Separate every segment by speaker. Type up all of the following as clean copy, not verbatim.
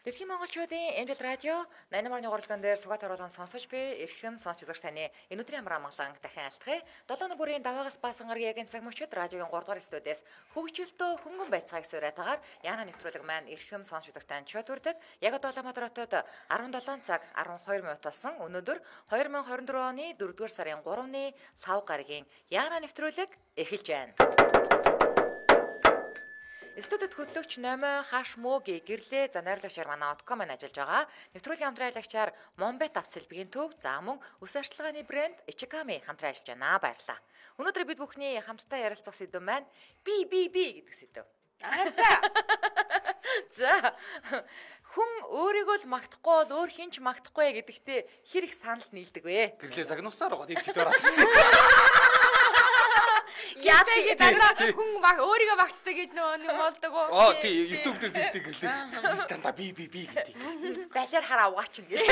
Speaker 1: Дэлхийн монголчуудын Эмдэл радио 88-ны гурлган дээр сугаат оруулган сонсож буй эрхэм сонсч үзэгч таны энэ өдрийн амар амгалан дахин айлтгая. 7 бүрийн даваагаас баасан гарагийн цаг мөчид радиогийн 3 дугаар студиэс хөгжилтөө хөнгөн байцгааг сураатагаар Яна нэвтрүүлэг маань эрхэм сонсч үзэгч танд чот үрдэг. Яг одоо Улаанбаатар хотод 17 цаг 12 минут болсон. Өнөөдөр 2024 оны 4 дугаар сарын 3-ны лав гарагийн Яна нэвтрүүлэг эхэлж байна. Студид хөтлөгч Номой хаш мөөгийн гэрлээ за найруулагчаар манай Outcom маань ажиллаж байгаа. Нэвтрүүлгийн хамтраалагчаар Монбет авц хэлбэгийн төв за мөн үс арчилгааны брэнд Ichikami хамтран ажиллаж байна. Баярлалаа. Өнөөдөр бид бүхний хамтдаа ярилцах сэдв маань би гэдэг сэдв. За хүн өөрийгөө л магтахгүй бол өөр хинч магтахгүй гэдэгтээ хэр их саналд нийлдэг вэ?
Speaker 2: Гэрлээ загнуусаар байгаа дэвчтэй ороочихсон.
Speaker 3: Яатай даграа хүн өөрийгөө багтдаг гэж нэг болдог уу?
Speaker 2: Тий, YouTube дээр дэмдэг гэрлээ. Дандаа би гэдэг.
Speaker 1: Балиар хараа угаач юм гээ.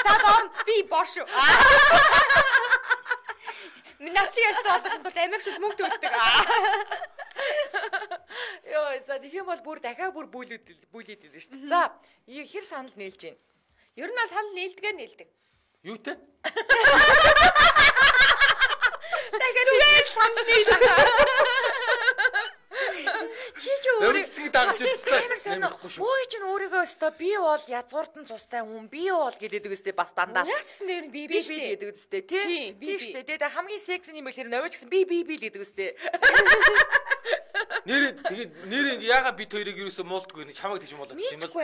Speaker 3: Тадон би бош. Миначи ярьсан болоход бол амирч мөнгө төлдөг.
Speaker 1: Йоо, за тийм бол бүр дахиад бүр бүлээд илэн шүү дээ. За, хэр санал нийлж байна?
Speaker 3: Ер нь бол санал нийлдэг.
Speaker 2: Юутэй?
Speaker 3: Зүгээр санал нийлдэг.
Speaker 1: Чи өөрийгөө
Speaker 2: дагаж үзсэн.
Speaker 1: Ой чинь өөрийгөө өстой би бол язгууртан цустай хүн би бол гэдэг үстэй бас дандаа.
Speaker 3: Яачсан нэр нь би
Speaker 1: шүү гэдэг үстэй тий. Тий шүү дээ. Тэгээ хамгийн секси юм хэлэхээр навч гэсэн би гэдэг үстэй.
Speaker 2: Нэр яага бит хоёрыг юусэн муулдгүй нэг чамаг тийч муулдаг
Speaker 1: юм бол.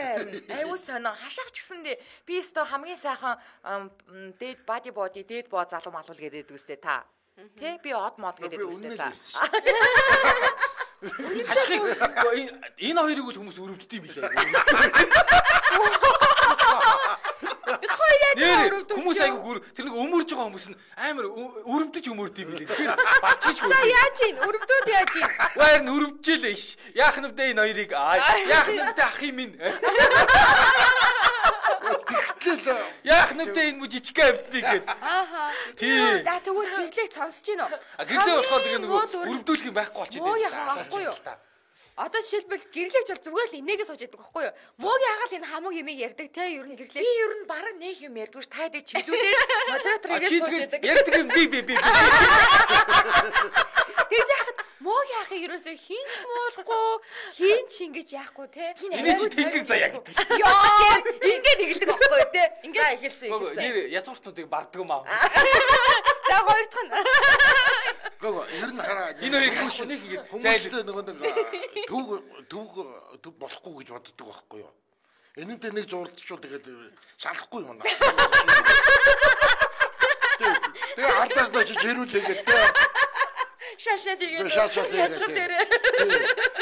Speaker 1: Аюу сонио хашаах ч гэсэндээ би өстой хамгийн сайхан дээд body дээд боо залуу малуул гэдэг үстэй та. Тэ би од мод гэдэг үстэй та.
Speaker 2: Хашиг энэ хоёрыг л хүмүүс өрөвддөг юм билээ. Хүмүүс айгүй тэр нэг өмөрж байгаа хүмүүс нь амар өрөвдөж өмөрд юм билээ. Тэгэхээр бас чиж хөө.
Speaker 3: За яаж ийн өрөвдөд яаж ийн.
Speaker 2: Ваар нь өрөвжээлээ ш. Яах нь вэ энэ хоёрыг яах нь вэ ах юм ин. Яах нь вэ энэ мужичка авдгийг гээд. Тий.
Speaker 3: За тэгвэл гэрлээг сонсож гин үү?
Speaker 2: Гэрлээ болохоор тэгээ нөгөө өрөвдүүлэх юм байхгүй болчиход
Speaker 3: байна. Муу яахгүй юу? Одоо жишээлбэл гэрлэгч бол зүгээр л инээгээ сууж яадаг байхгүй юу? Муугийн хагаал энэ хамаг юмыг ярьдаг те ер нь гэрлэгч.
Speaker 1: Би ер нь бараг нэг юм ярьдгүй ш тайдаг чиглүүлээд модераторыг сууж яадаг.
Speaker 2: Ярьдаг юм би.
Speaker 1: Тэгж яхад
Speaker 3: муугийн хахыг ерөөсөө хинч муулахгүй, хинч ингэж яахгүй те.
Speaker 2: Энэ чи тэнгэр заяа гэдэг ш.
Speaker 1: Яа, ингээд эхэлдэг байхгүй юу те. Ингээд эхэлсэн.
Speaker 2: Нэр язгууртнуудыг барддаг юм аа.
Speaker 3: За хоёр дахь нь.
Speaker 4: Гоо ер нь хараа
Speaker 2: энэ хоёрыг хашныг ингэж
Speaker 4: хүмүүстэй нөгөө төв болохгүй гэж боддог байхгүй юу. Энэнтэй нэг зурлалчул тэгээд шалахгүй юм байна. Тэгээ ардаас нь чи жирүүлээгээд те.
Speaker 1: Шашаад игээд.
Speaker 4: Шашаад игээд.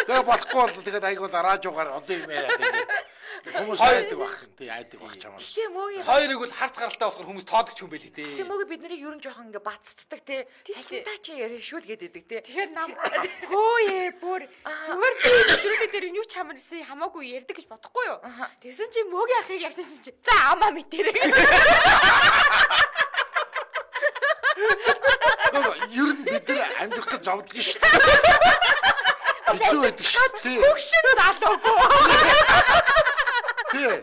Speaker 4: Тэгээ болохгүй бол тэгээд айгуул радиогаар одоо юм яриад тэгээд хүмүүс айдаг баг. Тий айдаг баг чамаа.
Speaker 1: Тийм мөгийн
Speaker 2: хоёрыг бол харц гаралтай болохоор хүмүүс тоодогч юм байли те.
Speaker 1: Тийм мөгийн бид нарыг ерөн жоохон ингээ бацчдаг те. Цалинтаа чи яришүүл гэдэг те.
Speaker 3: Тэгэхээр нам хөөе бүр зүгээр би нэвтрүүлэг дээр юу ч хамарсан хамаагүй ярьдаг гэж бодохгүй юу? Тэгсэн чи мөгийн ахыг ярьсан чи за амаа мэтэрээ.
Speaker 4: Ер нь бид нар амьдрах гэж зовдөг шүү дээ. Хэцүү байдаг шүү дээ.
Speaker 3: Хөгшин залуугүй.
Speaker 4: Тий.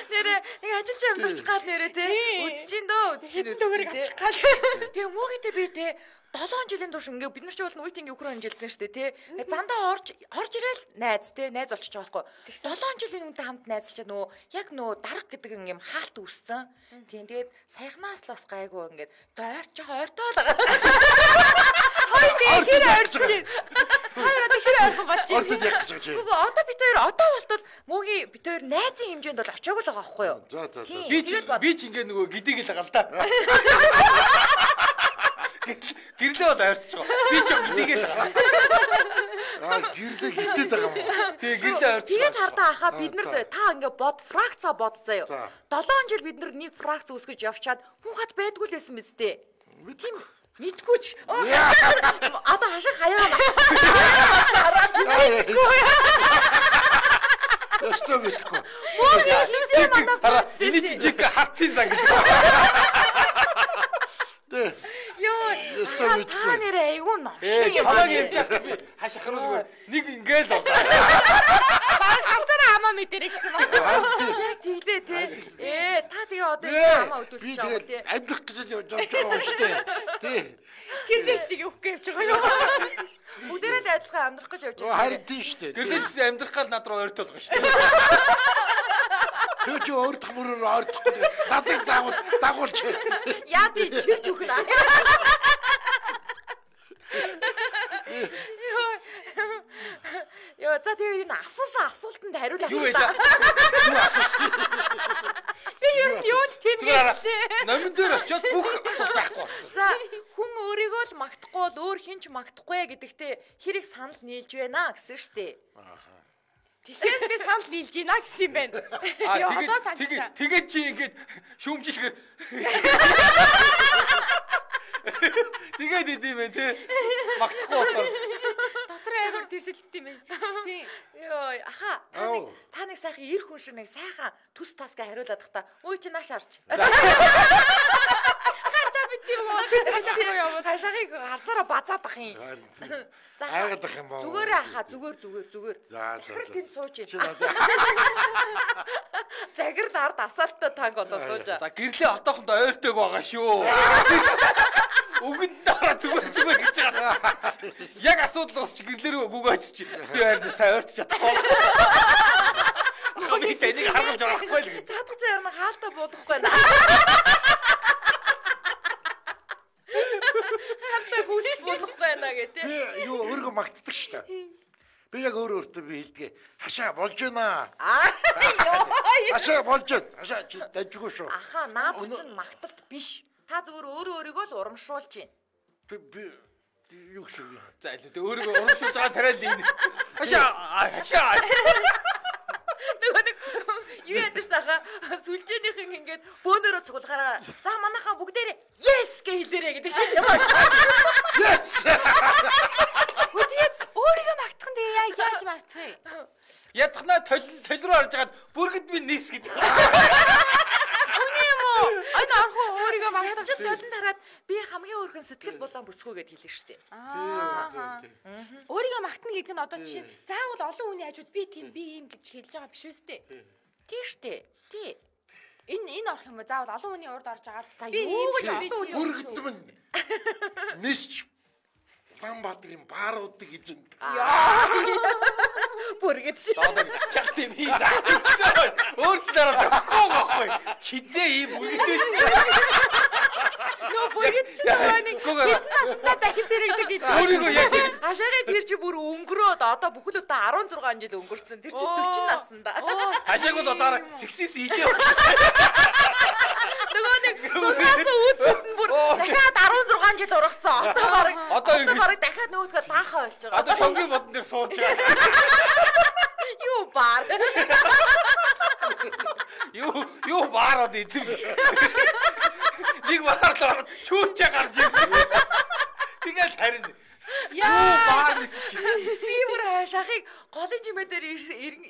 Speaker 1: Нэрээ нэг ажиллаж амьдарч гал нэрээ те. Үзчихин дөө те. Тэгээ муугитэй би те 7 жилийн турш ингээ бид нар ч бол үеийн Украин жилдэн штэ тий. Зандаа орж ирээл найз тий найз болчихж байгаа байхгүй. 7 жилийн үнтэй хамт найзалчаад нөгөө яг нөгөө дарга гэдэг юм хаалт үүссэн. Тийм тэгээд саяхнаас л бас гайгүй ингээд дойрч байгаа ойртоо л байгаа.
Speaker 3: Хой тэр ойрч чинь. Хой одоо хэр ойрхон болж байна.
Speaker 4: Ордод яг гэж байна.
Speaker 1: Үгүй одоо бид хоёр одоо болтол мөгийн бид хоёр найзын хэмжээнд бол очиагүй л байгаа байхгүй юу?
Speaker 4: За.
Speaker 2: Би ч ингээ нөгөө гидийг л байгаа л да. Гэрлээ бол ойртож байгаа. Би ч энийг л байгаа.
Speaker 4: Гэрлээ гитээд байгаа юм.
Speaker 2: Тий, гэрлээ ойртож.
Speaker 1: Тэгээд хардаа хаа бид нар та ингээ фракца бодцоо. 7 жил бид нар нэг фракц үүсгэж явчаад хүн хат байдгүй л байсан мэт дээ. Тийм мэдгүй ч. Одоо хашаа хаяа.
Speaker 4: Ястаа мэдгүй.
Speaker 1: Мөгийн хизээ мандаа.
Speaker 2: Энэ чи жиг хартын зан гэдэг.
Speaker 1: Ёо, та нэрээ айгүй нош.
Speaker 2: Хамаг ярьж байгаа би хашаа ханууд нэг ингээл болоо.
Speaker 3: мэдэр ихсэн байна.
Speaker 1: Яг тийлээ те. Та тэгээ одоо хамаа өдөлж байгаа тий.
Speaker 4: Амьдрах гэж явж байгаа юм шүү дээ. Тий.
Speaker 3: Тэр дэш тийг өгөх гэж байгаа юу?
Speaker 1: Бүгдээрээ л адилхан амьдрах гэж явж байгаа.
Speaker 4: Харин тийм шүү дээ.
Speaker 2: Гэрлэж амьдрах гал над руу ойртолго шүү дээ.
Speaker 4: Тэр чи өөртөх мөрөөр ойртохгүй надыг дагуулч.
Speaker 1: Яа би чирч өгнө. Яа за тэгээ энэ асуултанд хариулах.
Speaker 2: Юу байлаа?
Speaker 4: Юу асуусан?
Speaker 3: Би юунд тийм хэлсэн.
Speaker 2: Номин дээр очиод бүх асуулт байхгүй болсон.
Speaker 1: За хүн өөрийгөө л магтахгүй бол өөр хинч магтахгүй гэдэгтээ хэрэг санал нийлж байна гэсэн штэ.
Speaker 3: Тэгэхээр би санал нийлж байна гэсэн юм байна.
Speaker 2: Тэгээд чи ингэж шүүмжилгээр тэгээд идэв бэ те магтахгүй болохоор
Speaker 3: дотор амар тэрсэлт юм байна. Тийм.
Speaker 1: Йоо аха та нэг сайхан ир хүн шиг нэг сайхан төс тасга хариулаад тах та. Үй чи нааш харч.
Speaker 3: Харцаа бит юм уу? Хашаахгүй юм.
Speaker 1: Хашаахыг харцаараа базаад ах юм. За
Speaker 4: айгаад ах юм баа.
Speaker 1: Зүгээр аха зүгээр.
Speaker 4: За.
Speaker 1: Тэнд сууж ийн. Загэр дард асаалттай танк болоо сууж.
Speaker 2: за гэрлээ отоохондоо ойртойг байгаа шүү. Үгэнд дараа зүгээр гэж байгаа. Яг асуудал усч гэрлэрөө гүгөөч чи. Би харин сайн ойртож чадахгүй. Би тэнийг харгалж байгаа байхгүй л.
Speaker 1: Цаадах чаар нь хаалтаа буулгахгүй наа. Хаалтаа хүлс буулгахгүй наа гэдэг.
Speaker 4: Би юу өөрийгөө магтдаг шүү дээ. Би яг өөртөө би хэлдэг. Хашаа болж байна. Хашаа болж байна. Хашаа чи дажгүй шүү.
Speaker 1: Аха наад чинь магталт биш. Та зүгээр өөрийгөө л урамшуулж байна.
Speaker 4: Би юу гэсэн юм.
Speaker 2: За илүү тэ өөрийгөө урамшуулж байгаа царай л энэ. Хашаа.
Speaker 1: Нэг юу ядаж таха сүлжээнийхэн ингээд бөөнөрөө цуглахаараа за манайхаа бүгдээрээ yes гэж хэлээрэй гэдэг шиг юм байна.
Speaker 4: Yes.
Speaker 3: Тэгээд өөрийгөө магтах нь тэгээ яаж магтах вэ?
Speaker 2: Ядахнаа толь руу харж хагаад бүргэд би нийс гэдэг.
Speaker 3: Үгүй юм уу? Энэ орхон өөрийгөө магтах
Speaker 1: Чи толон тараад би хамгийн өөрхөн сэтгэл болон бүсгүй гэд хэлнэ шүү дээ.
Speaker 3: Өөрийгөө магтана гэдэг нь одоо жишээ заавал олон хүний хажууд би тийм би юм гэж хэлж байгаа биш үстэй.
Speaker 1: Тийм шүү дээ. Тий.
Speaker 3: Энэ орох юм уу? Заавал олон хүний урд орж байгаа.
Speaker 1: За юу гэж
Speaker 4: Бүргэд минь. Нисч Баамбаатарын бааруудыг эзэмд.
Speaker 1: Бүргэд чи.
Speaker 2: Одоо чалт юм хий заа. Өөр талаараа зөхгүй байхгүй. Хизээ ийм бүргэдээс.
Speaker 1: Нөө бүргэд чи нэг хэдэн настай дахиж сэрэгдэг гэдэг.
Speaker 2: Өөрийгөө яаж
Speaker 1: Хашааны тэр чи бүр өнгөрөөд одоо бүхэл удаа 16 жил өнгөрцөн. Тэр чи 40 наснда.
Speaker 2: хашааг бол одоо сексис илээ.
Speaker 1: Нөгөө нэг тулгаас үүсэнд бүр дахиад 16 жил ургацсан. Одоо барыг дахиад нөгөөдгөө лаахаа болж байгаа.
Speaker 2: Одоо шонгийн модон дээр сууж байгаа.
Speaker 1: Юу баар.
Speaker 2: Юу баарод эзэм. Нэг баарлаа чүүчээ гарч ирсэн. Тэгэл харин баар нисэж гисэн.
Speaker 1: Би бүр хашаахыг голын жимээ дээр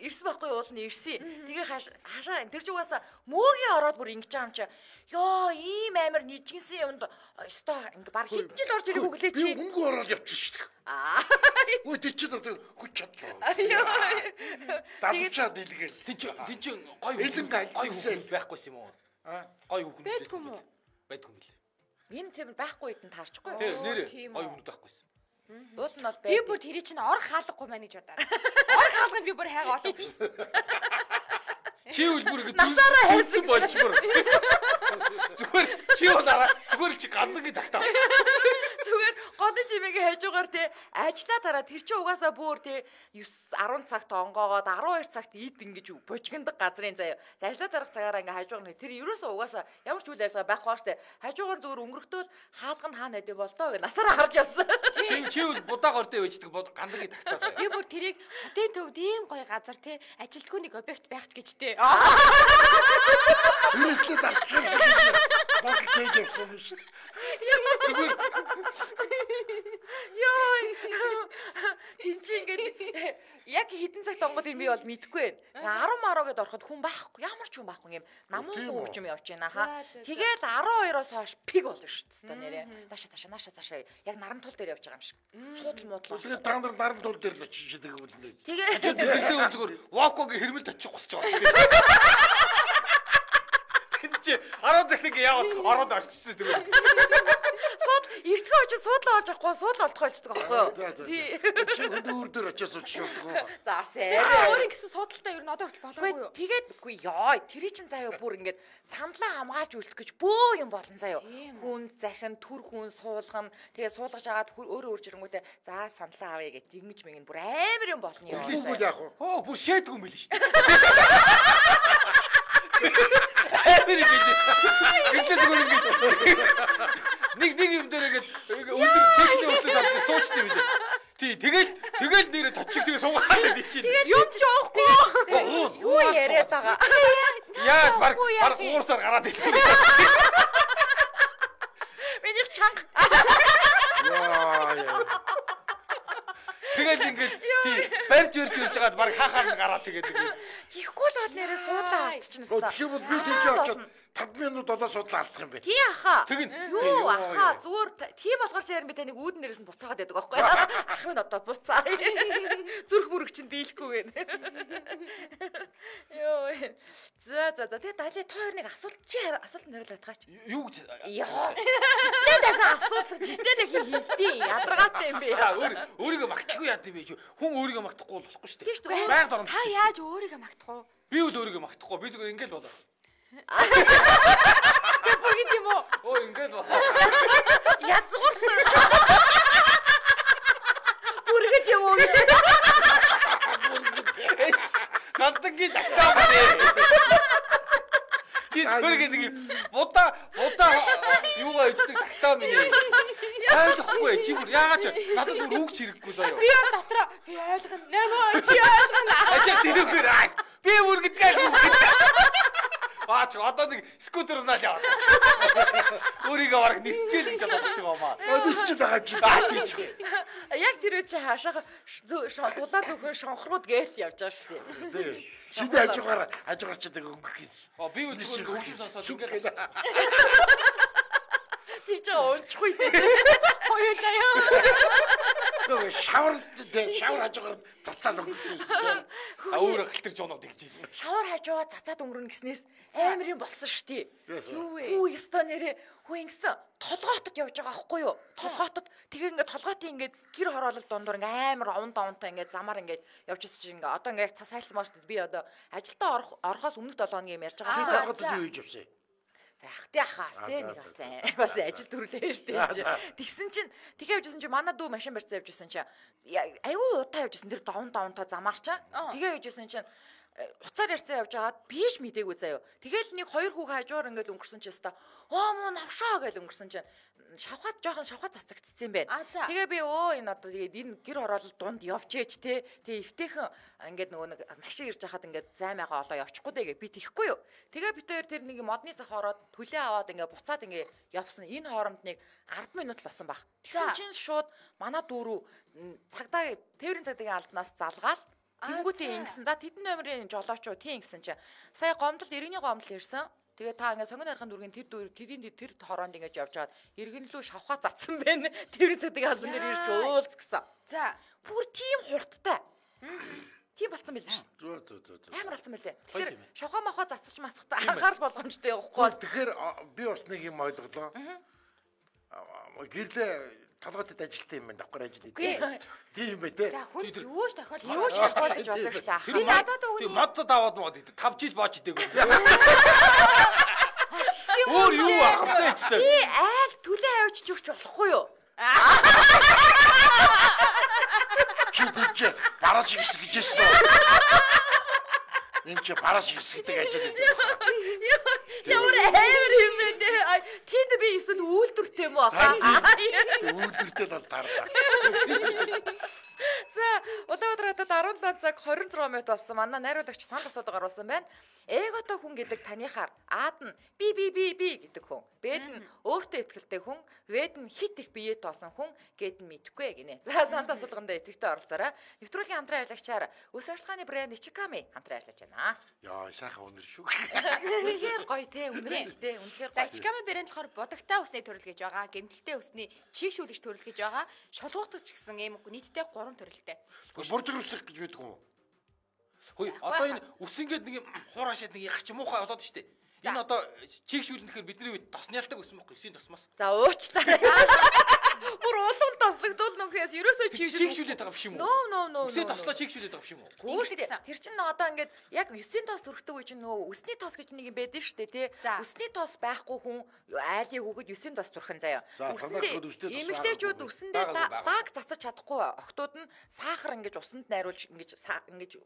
Speaker 1: ирсэн байхгүй уулна ирсэн. Тэгээ хашаа тэр ч угаасаа мөөгийн ороод бүр ингэж байгаа юм чи. Йоо ийм амар нижгэнсэн юмд өстой ингэ баг хэдэн жил орж ирэх үглээ чи.
Speaker 4: Би өнгө ороод явчихсан шүү дээ. Өө тэр чинь одоо хүч чадлаа. Давчаад илгээл.
Speaker 2: Тэг чи гой
Speaker 4: Элэн гал
Speaker 2: гой хүмүүс байхгүйс юм уу? Гой хүмүүс
Speaker 3: Байдгүй юм уу?
Speaker 2: Байдгүй юм лээ.
Speaker 1: Энэ тийм байхгүй хэдэн таарчихгүй.
Speaker 2: Тэг нэрээ
Speaker 3: тийм
Speaker 2: гой
Speaker 3: үү.
Speaker 2: хүмүүс байхгүйс.
Speaker 1: Уус нь бол
Speaker 3: Би
Speaker 1: бай.
Speaker 3: бүр тэрий чинь орох хаалгагүй маань гэж бодоо. Орох хаалганд би бүр хайгаа олоогүй шүү.
Speaker 2: Чи үл бүр
Speaker 1: Насаараа хайсан
Speaker 2: болж бүр. Зүгээр чи болаараа зүгээр чи гандангийн тагтаа.
Speaker 1: Зүгээр голын жимээгээ хажуугаар те ажиллаа дараа тэр чи угаасаа бүр те 10 цагт онгоогоод 12 цагт ид ингэж бужигндаг газрын заяа. Ажиллаа дарах цагаараа ингээ хажуугаар тэр ерөөсөө угаасаа ямар ч үйл ажиллагаа байхгүй баа штэ. Хажуугаар зүгээр өнгөрөхтөл хаалга нь хаана хэдэ болдоо гэ насаараа харж явсан.
Speaker 2: Чи үл будааг ордөө байждаг гандангийн тагтаа заяа.
Speaker 3: Би бүр тэрийг хотын төвд ийм гоё газар те ажилтгүй нэг объект байх ч гэж те.
Speaker 4: Тэрслээ давчихсан. Баг тээж явсан шүү дээ.
Speaker 1: Йоо. Тинч ингээд яг яг хідэн цагт онгод юм би бол мэдэхгүй байна. 10 мароо гэдээ ороход хүн байхгүй. Ямар ч хүн байхгүй юм. Намуу хөвч юм явж байна хаа. Тэгээд 12-оос хойш пиг болно шүү дээ нэрээ. Наашаа. Яг наран тул дээр явж байгаа юм шиг. Суудал муудлаа.
Speaker 4: Тэгээд та нар наран тул дээр л очиж байгаа юм байна.
Speaker 1: Тэгээд
Speaker 2: тэглээ зүгээр вокогийн хэрмэлд очих гусч байгаа шүү. Тэнд чи 10 захлыг яваад ороод орчихсон зүгээр.
Speaker 1: Эртхэн очиж суудлаа олж авахгүй суудлаа олдох болчихдог аахгүй юу?
Speaker 4: Тий. Чи өөр дөр очиж суучихдаг.
Speaker 1: За сэ.
Speaker 3: Өөрийн гэсэн суудалтай ер нь одоо хүрч болоогүй юу?
Speaker 1: Тэгээд үгүй яа, тэрий чин заяа бүр ингээд саналаа хамгаалж үлдэх гэж бөө юм болон заяа. Хүн захин төр хүн суулгана. Тэгээд суулгаж агаад өөрөө жирэнгүүтээ за саналаа авъя гэж ингэж мэгэн бүр амар юм болно юм.
Speaker 4: Тэгвэл яах вэ?
Speaker 2: Оо бүр шээдгүй юм биш үү? Амар юм биш. Гэтэл зүгээр ингэж нэг юм дээр ингээд өндөр техникийн хөтлөөс авч суучтай билээ. Тий, тэгэл нэрэ точиг тэгээ суугаад байд чинь.
Speaker 3: Тэгээд юм ч уухгүй.
Speaker 1: Юу яриад байгаа.
Speaker 2: Яа, баг уурсаар гараад ирлээ.
Speaker 1: Миний чанга.
Speaker 4: Яа.
Speaker 2: Тэгэл ингээд тий, барьж жагаад баг хаахаар нь гараад тэгээд
Speaker 1: Ихгүй л нэрээ суудлаа алдчихна.
Speaker 4: Тэгэхээр бол би тийж очоод 5 минут болоо судлаа алдах юм бэ.
Speaker 1: Тий аха.
Speaker 2: Тэгнь.
Speaker 1: Юу аха зүгээр тийм болохоор ч ярин би таныг үүдэн дээрээс нь буцаагаад байдаг байхгүй юу? Ах минь одоо буцаа. Зүрх мөрөг чинь дийлэхгүй гэнэ. Йоо. За тэгээ далий тоо хоёрыг асуулт нэрлээд гаач.
Speaker 2: Юу гэж
Speaker 1: Яа. Жишээ дахин асуулт жишээ дахин хэлтий. Ядаргаатай юм бэ?
Speaker 2: өөрийгөө магтахгүй яад юм бэ? Хүн өөрийгөө магтахгүй болохгүй шүү дээ.
Speaker 1: Тийм шүү дээ.
Speaker 2: Байнга доромж.
Speaker 3: Та яаж өөрийгөө магтах вэ?
Speaker 2: Би үл өөрийгөө магтахгүй. Би зүгээр ингээл болоо.
Speaker 3: Тэг бүгд юм уу?
Speaker 2: Оо ингээл болоо.
Speaker 1: Язгуурт. Бүргэд юм уу гэдэг.
Speaker 2: Гандангийн тактаа байна. Чи зөвхөн нэг будаа юугаа ичдэг тактаа минь. Ойлгохгүй чи бүр яагаад ч надад бүр үгч хэрэггүй заяа.
Speaker 3: Би он дотроо би ойлгоно. Нэмээ чи ойлгоно.
Speaker 2: Ашиг тэрүүгээр би бүр гэдгээ. Баач одоо нэг скутер унаад яваа. Өөрийгөө бараг нисчээл гэж бодох шиг байна.
Speaker 4: Нисчээ байгаа чи баач.
Speaker 1: Яг тэр үе чи хаашаа дулаад өгөх шонхрууд гээл явж байгаа шүү дээ.
Speaker 4: Чи хажуугаар ч гэдэг өнгөх гэсэн.
Speaker 2: Би үл зүгээр хөвчм сонсоод ингээл.
Speaker 1: Тэр чи унчихгүй дээ.
Speaker 3: Хоёулаа ёо.
Speaker 4: Нөгөө шавар хажуугаар цацаад өнгөх гэсэн.
Speaker 2: Өөр гэлтэрч унаад гэж хэлсэн.
Speaker 1: Шавар хажуугаа цацаад өнгөрнө гэснээс амар юм болсон шүү дээ.
Speaker 3: Юу вэ?
Speaker 1: Хүү ёстой нэрээ хүү ингэсэн толгоотод явж байгаа аахгүй юу? Толгоотод тэгээ ингээд толгоотын ингээд гэр хороолол дундуур ингээд амар овонтой ингээд замаар ингээд явж ирсэн чинь ингээд одоо ингээд цас хайлсан маш би одоо ажилдаа орохоос өмнөх 7 хоногийн юм ярьж байгаа.
Speaker 4: Толгоотод юу хийж явсан?
Speaker 1: За ахтай ахаас тий нэг бас ажил төрлөө штэ. Тэгсэн чинь тэгээ явжсэн чинь манай дүү машин барьцаа явжсэн чинь аюу удаа явжсэн тэр давнтаа замаарчаа. Тэгээ явжсэн чинь уцаар ярьцаа явж агаад биш мдэггүй заяо. Тэгэл нэг 2 хүүг хажуугаар ингээд өнгөрсөн ч яста. Муу навшаа гэж өнгөрсөн чинь жоохон шавхат цацагдсан юм байна. Тэгээ би энэ одоо тэгээд энэ гэр хороолол дунд явчээч те. Тэгээ эвтэйхэн ингээд нөгөө нэг машин ирж хахад ингээд займаагаа олоо явчихгүй дээ би тийхгүй юу. Тэгээ бид хоёр тэр нэг модны цах ороод төлөө аваад ингээд буцаад ингээд явсан. Энэ хооронд нэг 10 минут л болсон баг. Тэгсэн чинь шууд манай дүүрүү цагдаа тээврийн цагдаагийн албанаас залгаал тэнгүүтээ ингэсэн. За тэдэн номерын жолоочоо тийм гэсэн чинь сая гомдол иргэний гомдол ирсэн. Тэгээ та ингээ сонгон архын дүргийн тэр хороонд ингэж явж байгаад иргэнлүү шавхаа цацсан байна. Тээврийн цагдаагийн албан дээр ирж уулз гэсэн. За бүр тийм хурдтай. Тийм болцсон байл шүү. Зөө. Амар болцсон байлээ. Тэгэхээр шавхаа махаа цацчих масахтаа анхаарал болгоомжтой явахгүй.
Speaker 4: Тэгэхээр би бас нэг юм ойлголоо. Гэрлээ толгойд ажилтсан юм байна. Давхар ажил хийдэг. Тийм бай тээ.
Speaker 3: За хүн юу ч тохиол
Speaker 1: юу ч тохиолж болно шүү дээ.
Speaker 3: Би надад өгнө.
Speaker 2: Тийм модцод аваад мод 5 жил боож идэг. Өөр юу ахтай ч тээ.
Speaker 1: Би айл төлөө авчиж өгч болохгүй юу?
Speaker 4: Чи тийч бараж гисэх гэжсэн үү? Энд чи бараж гисэхдэг ажил хийдэг.
Speaker 1: Ямар амар юм бэ дээ. Тэнд би эсвэл үйлдвэртэй юм уу?
Speaker 4: Үйлдвэртэй бол тарлаа.
Speaker 1: За Улаанбаатар хотод 17 цаг 26 минут болсон. Манай найруулагч санал асуулга гаргасан байна. Эготой хүн гэдэг танихаар Ад нь би гэдэг хүн. Бэд нь өөртөө ихтэй хүн, Вэд нь хит их биеэ тоосон хүн гэд нь мэдхгүй гинэ. За санал асуулганд идэвхтэй оролцоорой. Нэвтрүүлгийн хамтран ажиллагчаар Үс ажиллагааны брэнд Ичиками хамтран ажиллаж байна.
Speaker 4: Яа, сайхан өнөр шүү.
Speaker 1: Үнэхээр гоё те, үнэхээр үнэхээр.
Speaker 3: За Ичиками брэнд болохоор будагтай усны төрөл гэж байгаа. Гэмтэлтэй усны чийгшүүлэгч төрөл гэж байгаа. Шулгуутгач гэсэн ийм нийтдээ 3 төрөлтэй.
Speaker 4: Буржиг үслэх гэж байдаг юм уу?
Speaker 2: Хөөе, одоо энэ ус ингээд нэг хуурашаад нэг яах ч муухай болоод штэ. Энэ одоо чийгшүүлнэхээр бидний үед тосны ялдаг ус мөхгүй, эсийн тосмоос.
Speaker 1: За уучлаарай. Бүр улам тослогдвол нүхээс ерөөсөө
Speaker 2: чийгшүүлээд байгаа биш юм уу?
Speaker 1: No.
Speaker 2: Үсээ тослоо чийгшүүлээд байгаа биш юм уу?
Speaker 1: Гүүштэй. Тэр чинь одоо ингээд яг 9-ийн тоос төрөхтэй үе чинь нөө өсний тоос гэж нэг юм байдаг шүү дээ, тий. Өсний тоос байхгүй хүн айлын хүүхэд 9-ийн тоос төрхөн заяа. Эмэгтэйчүүд үсэндээ лаг цацаж чадахгүй охтууд нь сахар ингэж усанд найруулж ингэж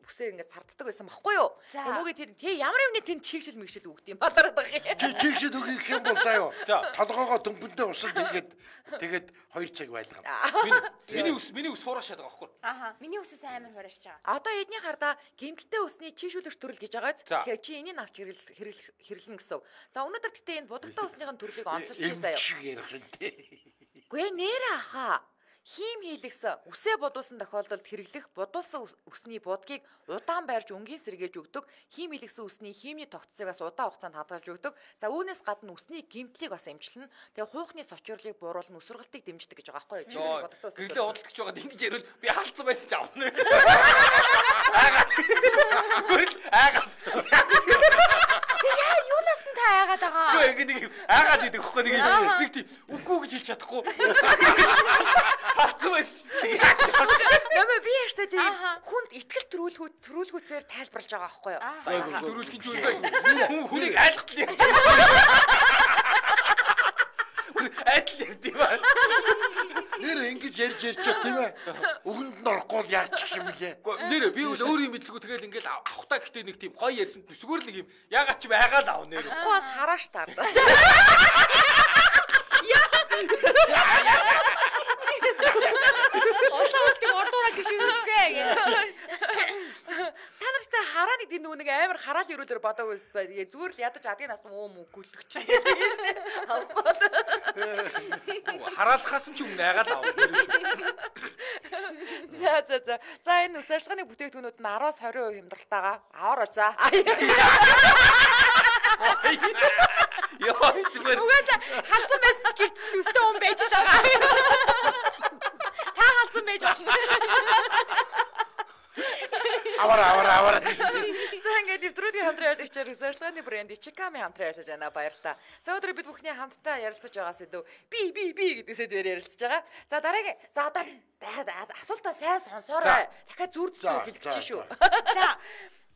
Speaker 1: үсээ ингэж сарддаг байсан байхгүй юу? Тэмүүгээ тэр тий ямар юмны тэнд чийгшил мэгшил өгд юм балараад байгаа юм.
Speaker 4: Чийгшил өгөх юм бол заяа. Толгоогоо дөнгөндөө усанд тэгээд 2 цаг байлгаа.
Speaker 2: Миний ус хуурашаад байгаа байхгүй.
Speaker 3: Аха. Миний усээс амар хуурашж байгаа.
Speaker 1: Одоо эдний хардаа гэмтэлтэй усны чийгшүүлэгч төрөл гэж байгаа. Тэгэхээр чи энийг авч хэрэглэн гэсэн. За өнөөдөр гэтээ энэ будагтай усныхын төрлийг онцолж чи заяа. Гүй нэрэ аха. Хим хийлгсэн үсээ бодуулсан тохиолдолд хэрэглэх бодуулсан үсний будгийг удаан байрж өнгийн сэргээж өгдөг. Хим хийлгсэн үсний химийн тогтцоогоос удаан хугацаанд хадгалж өгдөг. За үүнээс гадна үсний гэмтлийг бас эмчилнэ. Тэгээ хуухны сочрлыг бууруулна, өсвөргөлтийг дэмждэг гэж байгаа байхгүй юу?
Speaker 2: Гэрлээ худалдагч байгаад ингэж ярил би хаалцсан байсан ч авна. Аагаад.
Speaker 3: Яа, юунаас нь та аагаад байгаа?
Speaker 2: Үгүй ингэ нэг аагаад идэх хөхгүй нэг тийм үгүй гэж хэлж чадахгүй. Хаалцсан байсан.
Speaker 1: Нэмээ би яштай тийм хүнд итгэл төрүүлгүүцээр тайлбарлаж байгаа байхгүй юу?
Speaker 2: Төрүүлэх гэж үү? Хүнийг айлгтал яаж. Адил ярьд юм аа.
Speaker 4: Нэр ингэж ярьж тийм ээ. Өгөнд нь орохгүй яаж чих юм блэ?
Speaker 2: Нэр би бол өөрөө мэдлгүй тэгэл ингээл авахтаа гэхдээ нэг тийм гоё ярьсанд зүгээр л нэг юм ягаад ч байгаад аав нэр.
Speaker 1: Авахгүй бас харааш тардаа.
Speaker 3: Ордоо гişвэсгээ гэ.
Speaker 1: Та нартай хараа нэг тийм нэг амар хараал өрөөлөөр бодоагүй зүгээр л ядаж адгийн нас муу гүлгч.
Speaker 2: Хараалхаас нь ч өмнө айгаад аав.
Speaker 1: За. За энэ ус ажиллагааны бүтээгдэхүүнүүд нь 10-20% хямдралтайгаа аваарай за.
Speaker 2: Яа, зүгээр.
Speaker 3: Угаасаа халдсан байсан ч гэрт чинь өстэй хүн байж байгаа. Та халдсан байж болно.
Speaker 4: Авара.
Speaker 1: За ингээд нэвтрүүлгийн хамтран ажиллагчаар Үс ажиллагааны брэнд Ичиками хамтран ажиллаж байна. Баярлалаа. За өдөр бид бүхний хамтдаа ярилцаж байгаа сэдв би гэдэг сэдвээр ярилцаж байгаа. За дараагийн одоо асуултаа сайн сонсоорой. Дахиад зүрдэлж хэлчих шүү. За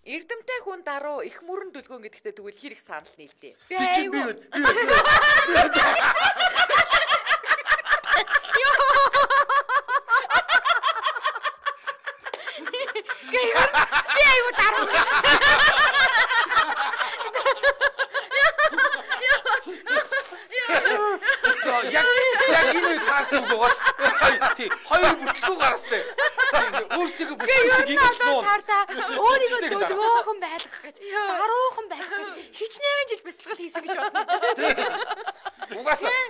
Speaker 1: Эрдэмтэй хүн даруй их мөрөн дүлгөөн гэдэгтээ тэгвэл хэр их санал нийлдэв.
Speaker 3: Би аюу даруй.
Speaker 2: Яг энэ таарсан гоц. Тий, хоёр бүтлгүй гарастай. Өөрсдөө бүтлгийг ингэж нуу.
Speaker 3: Өөрийгөө дүлгөөхөн байлгах гэж, даруухан байх гэж хичнээн жил бяцлал хийсэн гэж бодно.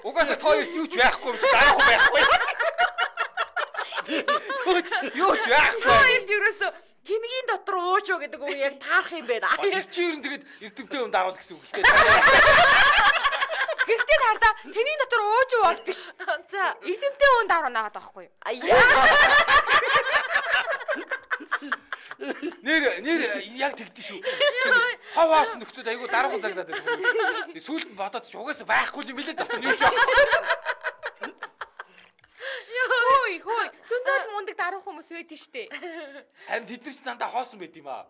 Speaker 2: Угаасаа тооёрт юу ч байхгүй юм чи даруухан байхгүй. Юу ч байхгүй.
Speaker 1: Тооёрт юусоо тэнгийн дотор уужуу гэдэг үг яг таарах юм байна.
Speaker 2: Тэр чи ер нь тэгээд эрдэмтэй юм даруул гэсэн үг л дээ.
Speaker 3: Гэхдээ хардаа тэнгийн дотор уужуу бол биш.
Speaker 1: За
Speaker 3: эрдэмтэй хүн даруу наагаад байхгүй юу?
Speaker 2: Нэр яг тэгдэж шүү. Хаваас нөхдөд айгу дараахан загдаад байна. Сүүлд нь бодоод ч угаасаа байхгүй юм билээ дотор юу ч байна.
Speaker 3: Хөөе. Зөндөл мундаг даруух хүмүүс байдэн штэ.
Speaker 2: Харин тэд нар ч дандаа хоосон байд юм аа.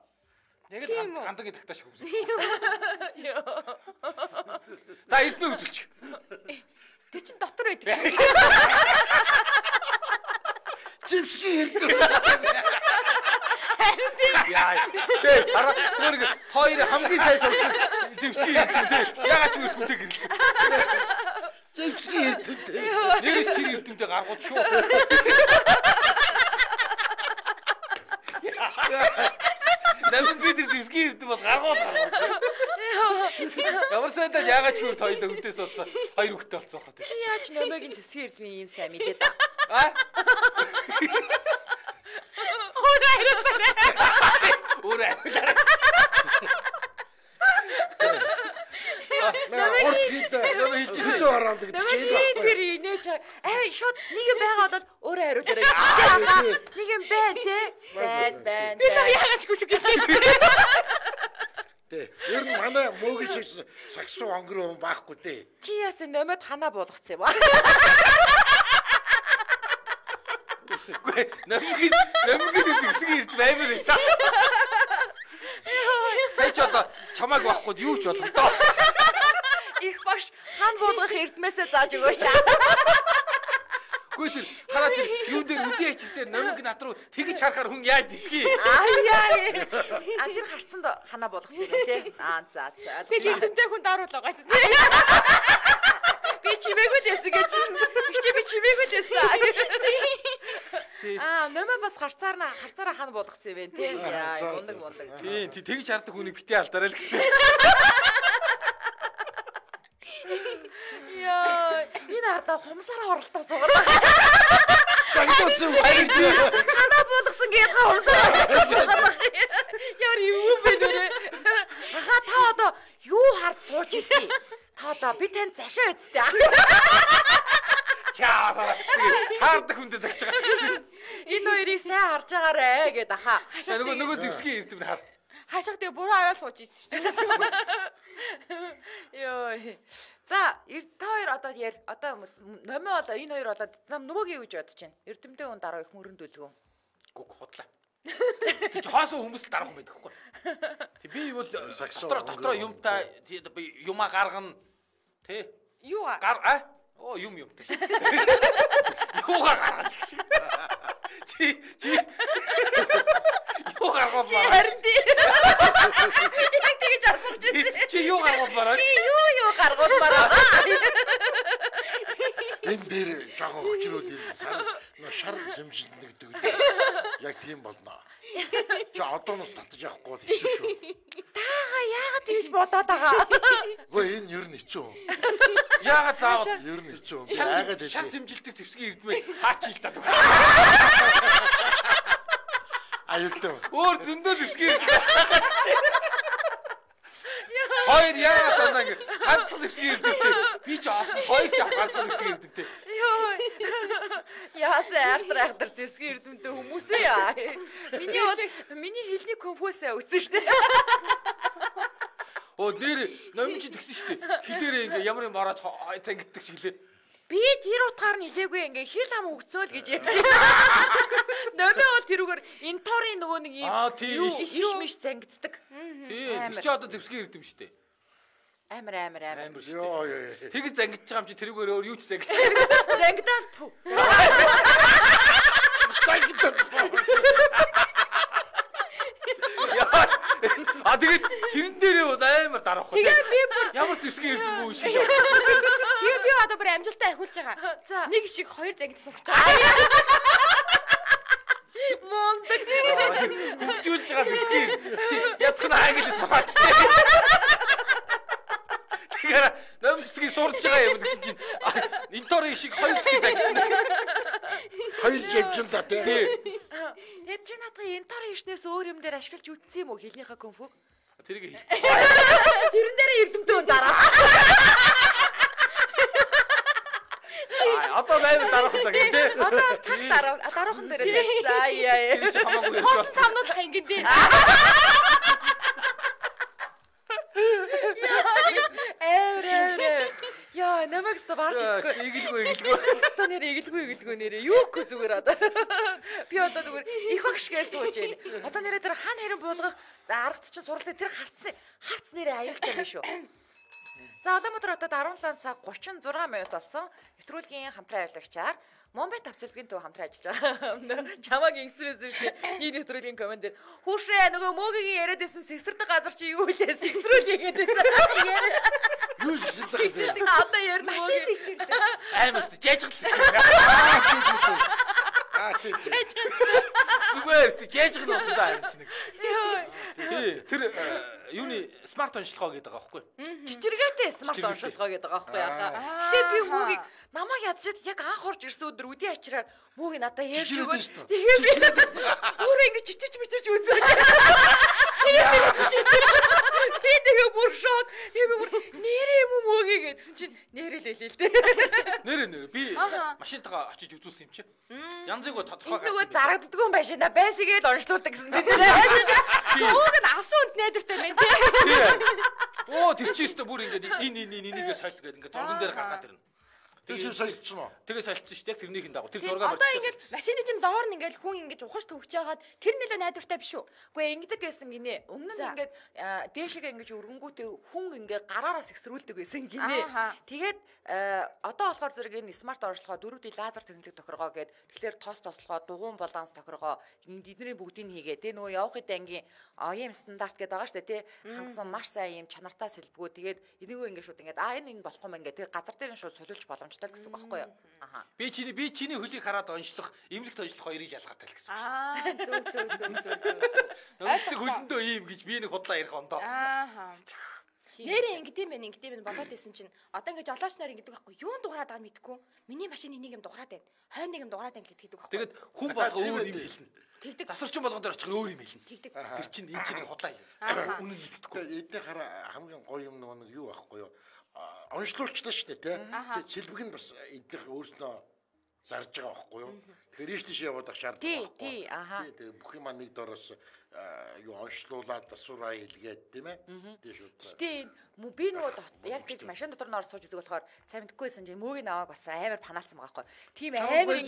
Speaker 2: Яг л гандаг тагтааш хүмүүс. За эрдмээ үзүүлчих.
Speaker 3: Тэр чин дотор байдаг.
Speaker 4: Чипсгийн эрдмээ.
Speaker 2: Яа. Тэ зүгээр хоёр хамгийн сайн сонсон зэвсгийн эрдэмтэй. Ягаад ч үсгүүтэй гэрэлсэн.
Speaker 4: Зэвсгийн эрдэмтэй.
Speaker 2: Нэрээс тэр эрдэмтэй гаргууд шүү. Намгийн дээр зэвсгийн ирдэг бол гаргууд. Ямар сайдаа яагаад ч өөр хоёлоо өвдөөс болсон 2 хүүхэдтэй болсон хаа тийм.
Speaker 1: Яаж номогийн зэвсгийн ирдэг юм сайн мэдээ та.
Speaker 2: Өөрөө
Speaker 4: Орд хийдэ ороод гэдэг чинь байхгүй.
Speaker 1: Тэр инээж шууд нэг юм байгаа бол өөрөө хариулаарай гэж байгаа. Нэг юм байна те. Байна.
Speaker 3: Би сая яагаад ч гүшиг гэсэн.
Speaker 4: Тэ. Ер нь манай мөөгийн шиг саксуу онгор хүн байхгүй дээ.
Speaker 1: Чи яасан номод ханаа болгоцсон юм аа.
Speaker 2: Үгүй намгийн зэвсгийн ирд баймар байсан. Сэч одоо чамааг байхгүй юу ч боломжтой.
Speaker 1: Их баш хан буулгах эрдмээсээ зааж өгөөч.
Speaker 2: Үгүй тэр хараа тэр юу дээр үдийн ачилтээр намиг нат руу тэгж харахаар хүн яаж дисгий.
Speaker 1: Тэр харцсанд ханаа болгоцсон юм тий. За.
Speaker 3: Би гинтэнтэй хүн дааруулаа гайц.
Speaker 1: Би чимээгүй л яасан гэж би чимээгүй л яасан. Нэмээ бас харцаараа хана болгоцсон юм байна тий. Мундаг.
Speaker 2: Тийм тэгж хардаг хүнийг битээ алдараа л гэсэн.
Speaker 1: Яа, энэ ардаа хумсараа оролтоо суугаад.
Speaker 4: Загтууч баяр тий.
Speaker 1: Ханаа болгосон гээд хумсараа суугаад. Яар юу бэ нэрэ? Та одоо юу хард сууж ирсэн? Та одоо би тань захиа үсттэй.
Speaker 2: Чаа таардаг хүндээ загч байгаа.
Speaker 1: Энэ хоёрыг сайн харж байгаарэ гэд аха.
Speaker 2: Нөгөө зэвсгийн ирдэм хар.
Speaker 3: Хашаа тэгээ буруу аваад сууж ирсэн шүү дээ.
Speaker 1: Йоо. За, та хоёр одоо номоо болоо энэ хоёр болоод нам нөгөөгийн гэж бодож байна. Эрдэмтэй хүн дараа их мөрөндүүлгөө.
Speaker 2: Гүг худлаа. Тэг чи хаасаа хүмүүс дарах юм байдаг хгүй. Тэг би бол дотроо юмтай юмаа гаргана. Тэ?
Speaker 3: Юу
Speaker 2: юм. Юугаар гаргаж гэж. Чи юу гаргав баа?
Speaker 1: Харин тий. Яг тэгж асууж ирсэн.
Speaker 2: Чи юу гаргав баа?
Speaker 1: Чи юу гаргав баа?
Speaker 4: Энэ дээр жоохон хүчрүүл юм шар сэмжинд нэгдэг. Яг тийм болно. Чи одооноос татаж явахгүй хэцүү шүү.
Speaker 1: Таага яагаад тэгж бодоод байгаа?
Speaker 4: Үгүй энэ ер нь хэцүү.
Speaker 2: Яагаад заавал
Speaker 4: ер нь хэцүү. Яагаад
Speaker 2: шар сэмжилдэг зэвсгийн ирдмээ хаач хилтаад үг.
Speaker 4: Аюултай.
Speaker 2: Өөр зөндөө зэвсгийн хоёр яагаад санаа ингэ ганцхан зэвсгийн ирдэмтэй. Би ч олон хоёр ч ганцхан зэвсгийн ирдэмтэй.
Speaker 1: Йоо. Яасаа айхтар зэвсгийн ирдэмтэй хүмүүс яа. Миний хэлний конфусаа үзэхтэй.
Speaker 2: Оо нэр номч тэгсэн шүү дээ. Хилээрээ ингээ ямар юм ороод зангиддаг шиг лээ.
Speaker 1: Би тэр утгаар нь хэлээгүй ингээ хил хам өгцөөл гэж ярьж байна. Нөмөө бол тэрүүгээр инторын нөгөө нэг юм иш зангиддаг.
Speaker 2: Тийм. Чи одоо зэвсгийн ирдэм шүү дээ.
Speaker 1: Амар
Speaker 2: шүү дээ. Тэгж зангидж байгаа юм чи тэрүүгээр өөр юу ч зангид.
Speaker 1: Зангидаад пүү.
Speaker 4: Зангидаад.
Speaker 2: Тэгээд тэрэн дээрээ бол амар дарах хөө.
Speaker 3: Тэгээ би бүр
Speaker 2: ямар зэвсгийн ирдэм үү шиг.
Speaker 3: Тэгээ би одоо бүр амжилттай ахиулж байгаа.
Speaker 1: За.
Speaker 3: Нэг шиг хоёр зангид сууж байгаа.
Speaker 1: Мондөг.
Speaker 2: Хөвжүүлж байгаа зэвсгийн чи ядах нь англи сууч. Тэгэхээр номцгийн сурж байгаа юм гэсэн чинь интори шиг хоёр дахин зангид.
Speaker 4: Хоёр жимжин та тий.
Speaker 1: Тэд чи надад интори ишнээс өөр юм дээр ашиглаж үтсэн юм уу хэлнийхээ конфуг?
Speaker 2: Тэрийг хэл.
Speaker 1: Тэрэн дээр эрдэмтэй хүн дараа.
Speaker 2: Одоо байвал дараахан цаг тий.
Speaker 1: Одоо дараахан дээр тий. За яа.
Speaker 2: Тэр чи хамаагүй.
Speaker 3: Хоос самнуулах ингэн дээ.
Speaker 1: Яа, намайг ста барж идэггүй.
Speaker 2: Игэлгүй.
Speaker 1: Ста нэрээ нэрээ. Юугүй зүгээр одоо. Би одоо зүгээр их багшгээс сууж байна. Одоо нэрээ тэр хан хэрэн буулгах аргад чинь суралцаа тэр харц нэрээ аюултай юм шүү. За Улаанбаатар хотод 17 цаг 36 минут болсон. Нэвтрүүлгийн хамтран ажиллагчаар Момбай тавцалбгийн төв хамтран ажиллаж байгаа. Чамааг ингэсэн шүү дээ. Энэ нэвтрүүлгийн комент дээр хүүшээ нөгөө мөөгийн яриад байсан сэгсэрдэг газар чи юу лээ сэгсрүүлээ гэдээсэн.
Speaker 4: Юу сэгсэрдэг
Speaker 1: газар? Одоо ярина.
Speaker 3: Машин сэгсэрдэг.
Speaker 2: Аймаас жайжгалсан. Зүгээр жээж гэх нь болно да харин ч нэг. Тий, тэр юуны смарт онцлогоо гэдэг байгаа байхгүй.
Speaker 1: Чичиргээтэй смарт онцлогоо гэдэг байгаа байхгүй яхаа. Тэгэхээр би хүүгийг намайг ядчихэд яг анх орж ирсэн өдөр үдийн ачраар хүүгийг надад ярьж өгөөд. Тэгээ би өөрөө ингэ чичирч мичирч үзээ. Би тэгээ бүр шок. Тэгээ би бүр нэрээ юм уу гэдсэн чинь нэрэлээ л дээ.
Speaker 2: Нэрэ би машинтайгаа очиж үзүүлсэн юм чи. Янзыг тодорхой
Speaker 1: гаргав. Нөгөө зарагддгүй юм байшин да. Байсигээл онцлуулдаг гэсэн дээ.
Speaker 3: Ууг нь авсан үнд найдвартай байна тий.
Speaker 2: Оо тэр чи өстө бүр ингээд энийгээ сойл гэдэг ингээд зурган дээр гаргаад ирнэ.
Speaker 4: Тэгээ солилцсон уу?
Speaker 2: Тэгээ солилцсон шүү дээ. Тэрнийхэн дагуу тэр зургаа
Speaker 3: одоо ингээд машины чинь доор нь ингээд хүн ингээд ухаж төгч жагаад тэр нэлээ найдвартай биш үү?
Speaker 1: Үгүй ингэдэг байсан гинэ. Өмнө нь ингээд дээшгээ ингээд өргөнгүүтээ хүн ингээд гараараас ихсрүүлдэг байсан гинэ. Тэгээд одоо болохоор зэрэг энэ смарт оршилгоо 4D лазер технологи тохиргоо гээд тэгэхээр тослогоо дугуун баланс тохиргоо эдний бүгдийг хийгээ. Тэгээ нөгөө явах хэд ангийн OEM стандарт гэдэг байгаа шүү дээ тий. Хангасан маш сайн юм чанартай сэлбгүү. Тэгээд энийгөө ингээд шууд ингээд энэ болохгүй мэн ингээд тэгээд газар дээр нь шууд солиулж боломжтой гэсэн үг байхгүй юу? Аха.
Speaker 2: Би чиний хөлийг хараад онцлох, эмнэлэгт онцлох хоёрыг ялгаатай л гэсэн үг.
Speaker 3: Зөв.
Speaker 2: Онцлог хөлөндөө ийм гэж би нэг худлаа ярих ондоо.
Speaker 3: Нэрээ ингэдэм байна бодоод байсан чинь одоо ингэ жолооч нар ингэдэг байхгүй юунд дугаараад байгааг мэдэхгүй миний машины нэг юм дугаараад байна хойно нэг юм дугаараад байна гэдэг байхгүй
Speaker 2: тэгээд хүн болго өөр юм хэлнэ
Speaker 3: тэгдэг
Speaker 2: засварчин болгон дээр очих өөр юм хэлнэ тэгдэг тэр чинь энэ чинь худлаа юм үнэн мэддэхгүй
Speaker 4: эдний хараа хамгийн гоё юм нэг юу байхгүй юу онцлуулчлаа шүү дээ тэгээд сэлбэг нь бас эднийх өөрснөө зарж байгаа байхгүй юу тэгэхээр ийш тийш яваад ах шаардлагатай
Speaker 1: тий
Speaker 4: тэгээд бүх юм нэг дороос юу онцлуулаад засвараа илгээд тийм ээ тий шүү
Speaker 1: дээ би нөгөө яг гэж машин дотор нор сууж үзэх болохоор сайн мэдгүйсэн чинь мөөгийн аваад бас амар панаалсан байгаа байхгүй тийм амар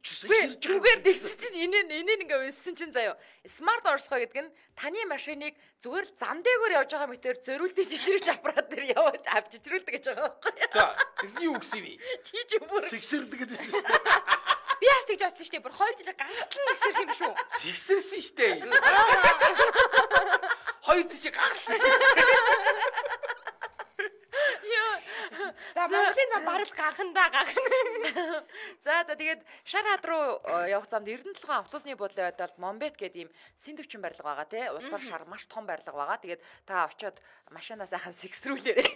Speaker 1: зүгээр дэгс чинь инээ ингээ өссөн чинь заяа смарт оршилгоо гэдэг нь таны машиныг зүгээр л зам дээгүүр явж байгаа мэтэр зөриүүлдэг жижиг аппарат дээр яваад авч жижирүүлдэг гэж байгаа байхгүй
Speaker 2: за тэгсэн юу гэсэн би
Speaker 1: чи ч бүр
Speaker 4: сэгсэрдэг гэдэг чинь
Speaker 3: би яас тэгж бодсон шүү дээ бүр 2 жилээр гангатлан нэгсэрх юм шүү
Speaker 2: сэгсэрсэн шүү дээ хоёр тийш гангатлан
Speaker 3: за Монголын зам барал гахна
Speaker 1: за тэгээд Шараад руу явах замд Эрдэнэтлэгэн автобусны буудлын байдалд Момбет гэдэг ийм синдвчэн барилга байгаа тий улсаар шар маш том барилга байгаа тэгээд та очиод машинаа сайхан сэгсрүүлээрэй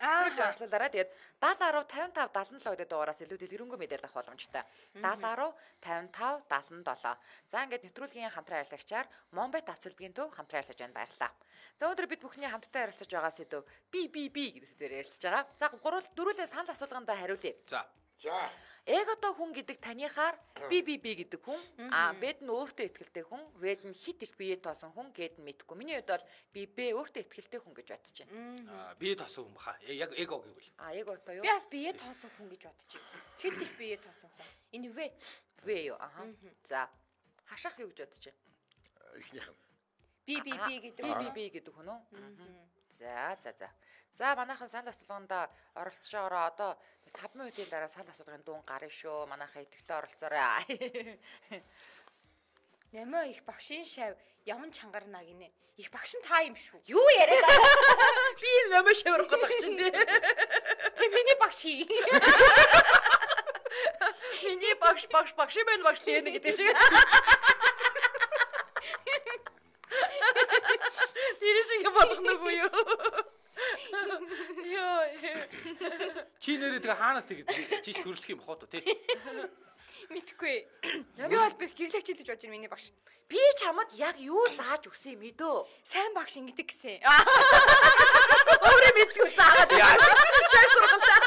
Speaker 1: онцлуулаарай тэгээд 70 10 55 77 гэдэг дугаараас илүү дэлгэрэнгүй мэдээлэл авах боломжтой 70 10 55 77 за ингээд нэвтрүүлгийн хамтран ажиллагчаар Момбет авцэлбгийн төв хамтран ажиллаж байна баярлалаа за өнөөдөр бид бүхний хамтдаа ярилцаж байгаа сэдв би гэдэг сэдвээр ярилцаж байгаа за дөрүүлээ санал асуулгандаа хариулъя
Speaker 2: за
Speaker 1: Эго хүн гэдэг таныхаар би гэдэг хүн бэд нь өөртөө ихтэй хүн вэд нь хит их бие тоосон хүн гэд нь мэдхгүй. Миний хувьд бол би өөртөө ихтэй хүн гэж бодож байна.
Speaker 2: Бие тоосон хүн баха. Яг эго гэвэл.
Speaker 1: Эго тоо юу?
Speaker 3: Би бас бие тоосон хүн гэж бодож байна. Хит их бие тоосон хүн. Энэ вэ
Speaker 1: юу? За хашаах юу гэж бодож байна?
Speaker 4: Эхнийх нь.
Speaker 3: Би
Speaker 1: гэдэг хүн үү? За манайхан санал асуулганда оролцож байгаараа одоо 5 минутын дараа санал асуулгын дуун гарна шүү. Манайхан идэвхтэй оролцоорой.
Speaker 3: Нэмээ их багшийн шав явн чангарна гинэ. Их багш нь та юм шүү.
Speaker 1: Юу яриад байгаа? Би нэмээ шаврах гэдэг чинь дээ.
Speaker 3: Миний багш.
Speaker 1: Миний багш байна багш тийм гэдэг шиг. Тэр шиг болгоногүй юу?
Speaker 2: Чи нэрээ тэгээ хаанаас тэгээд чиш төрөлөх юм хоо тий.
Speaker 3: Мэдхгүй. Би бол би гэрлэгч хэлж бодож байна миний багш.
Speaker 1: Би чамд яг юу зааж өгсөн юм мэдөө?
Speaker 3: Сайн багш ингэдэг гэсэн.
Speaker 1: Өөрөө мэдгүй заагаад. Чай сургалтаа.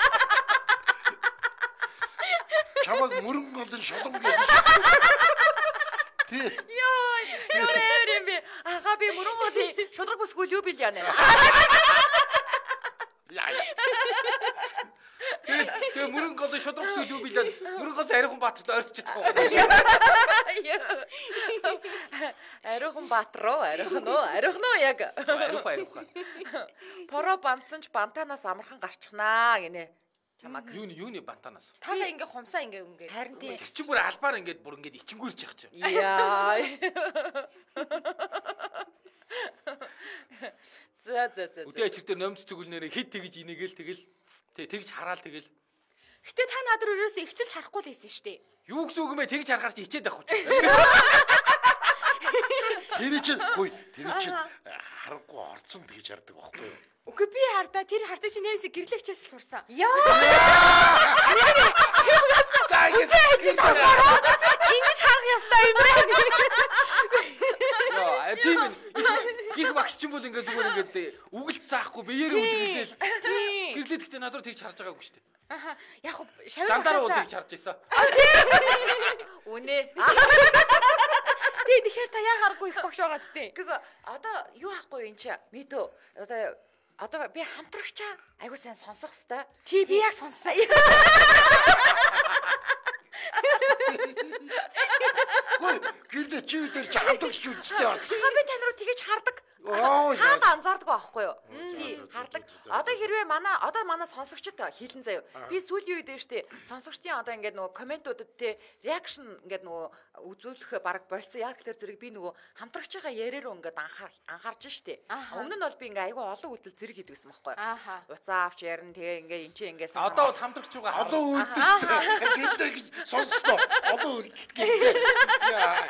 Speaker 4: Чамаг мөрөнгө олон шулам гэдэг. Тий.
Speaker 1: Яа, би ага би мөрөнгө шудраг бүсгүй юу бил яана.
Speaker 2: Тэгээ мөрөнгө олон шудраг бүсгүй юу бил яана. Мөрөнгө олон Арихан Баатарт ойртож чадахгүй.
Speaker 1: Арихан Баатар уу? Арихан уу яг.
Speaker 2: Арихан.
Speaker 1: Поро бандсан ч бантанаас амархан гарчихнаа гинэ.
Speaker 2: Чамаг юуны бантанаас.
Speaker 3: Таасаа ингээ хумсаа ингээ.
Speaker 1: Харин тийм.
Speaker 2: Тэр чинь бүр албаар ингээд бүр ингээд ичингүүрч явах чинь.
Speaker 1: Яа. За.
Speaker 2: Үдээ ичэр дээр номц цүгэлнээрээ хэд тэгж инээгээл тэгэл тэгж хараал тэгэл.
Speaker 3: Гэтэ та над руу ерөөсөө ихцэлж харахгүй л байсан шүү дээ.
Speaker 2: Юу гэсэн үг юм бэ? Тэгж харахаар чи хичээд авах гэж.
Speaker 4: Тэр чинь харахгүй орцсон тэгж хардаг байхгүй юу?
Speaker 3: Үгүй би хардаа тэр хардаг чинь нээсээ гэрлэгчээс л сурсан.
Speaker 1: Яа.
Speaker 3: Ингэж харах ёстой юм байна.
Speaker 2: Яа, тийм их багш ч юм бол ингээд зүгээр ингээд үгэлт заахгүй биеэрээ үдгэлээл. Гэрлээ гэхдээ над руу тэгж харж байгаагүй шүү дээ.
Speaker 3: Аха. Яг шавь
Speaker 2: Зандаар уу тэгж харж байсан.
Speaker 1: Үнэ.
Speaker 3: Тэгэхээр та яа харахгүй их багш байгаа зү.
Speaker 1: Гэхдээ одоо юу ахгүй энэ чи мэдөө одоо би хамтрагчаа айгуу сайн сонсох хэвээр.
Speaker 3: Тий би яг сонссон.
Speaker 4: Хөөе, гэрдэ чи үдэр чи хамтагч үстэй бас.
Speaker 1: Би тань руу тэгэж хардаг. Хаалаа анзаардаг байхгүй юу? Тий, хардаг. Одоо хэрвээ манай сонсогчд хэлэн заяа. Би сүүлийн үед штэ сонсогчдын одоо ингээд нөгөө комментуудад те реакшн ингээд нөгөө үзүүлэх баг болцсон. Яг тэгэхээр зэрэг би нөгөө хамтрагчаа яриараа ингээд анхаарч штэ. Өмнө нь бол би ингээд айгүй олон үйлдэл зэрэг хийдэг гэсэн байхгүй юу? Уцаа авч ярина тэгээ ингээд эн чинь ингээд
Speaker 2: Одоо бол хамтрагч руугаа
Speaker 4: олон үйлдэл гэрдэ сонсноо. Олон үйлдэл гэрдэ.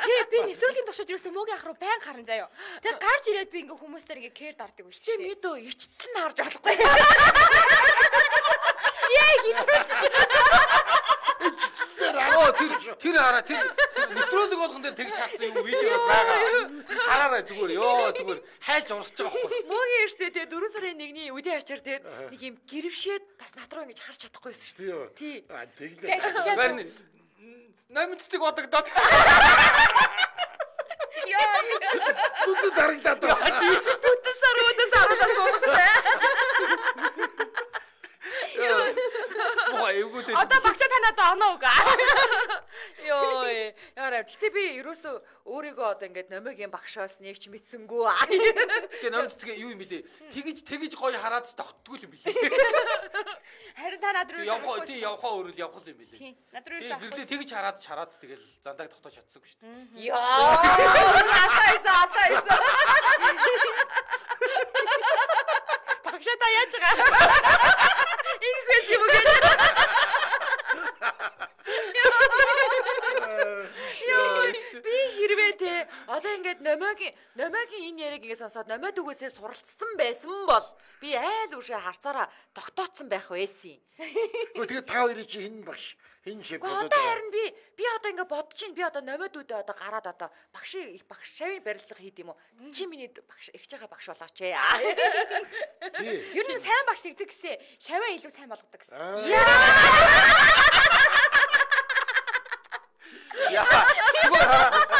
Speaker 3: Тий би нэвтрүүлгийн туршид юусэн мөгийн ах руу байн харан заяа. Тэгээ гарч ирээд би ингээ хүмүүстээр ингээ кэр дарддаг биш.
Speaker 1: Тэ мэдөө ичтэл нь харж болохгүй.
Speaker 3: Яа хийх
Speaker 2: тэр хараа тэр нэвтрүүлэг болгон дээр тэгж харсан юм видео байгаа. Хараарай зүгээр зүгээр хайлж урсаж байгаа байхгүй.
Speaker 1: Мөгийн штэ тэ 4 сарын 1-ний үдийн ачаар тэр нэг юм гэрвшээд бас над руу ингэж харж чадахгүйсэн штэ. Тий.
Speaker 2: Тэгнэ. Намын цэцэг бодогдоод.
Speaker 1: Яа.
Speaker 4: Бүдэ дарагдаад.
Speaker 1: Бүдэ саруудаа суугтай.
Speaker 3: Одоо багцаа танаад оноо уга.
Speaker 1: Йоо. Яараа гэтээ би ерөөсөө өөрийгөө одоо ингээд номигийн багшаас нэг ч мэдсэнгүү.
Speaker 2: Тэгээ ном цэцгээ юу юм бэлээ? Тэгж гоё хараад тогтдгүй юм бэлээ.
Speaker 3: Харин та над руу
Speaker 2: явхаа өөрөө явах юм бэлээ.
Speaker 3: Тий. Над руу ирсэн.
Speaker 2: Гэрлээ тэгж хараад тэгэл зандааг тогтоож чадсангүй шүү дээ.
Speaker 1: Яа. Атайсаа.
Speaker 3: Багшаа та яаж байгаа?
Speaker 1: Ингээс юм гээд. Би хэрвээ те одоо ингээд номогийн энэ яриаг ингээд сонсоод номоод үгээсээ суралцсан байсан бол би айл үшээ харцаараа тогтооцсон байх байсан.
Speaker 4: Тэгээ та хоёрын чи хин багш хин шиг
Speaker 1: болоод. Одоо харин би одоо ингээд бодож чинь би одоо номоод үдээ одоо гараад одоо багш шавын барилга хийд юм уу? Чи миний багш ихж байгаа багш болооч ээ.
Speaker 3: Ер нь сайн багш тэгдэг гэсэн шаваа илүү сайн болгодог гэсэн.
Speaker 2: Яа. Зүгээр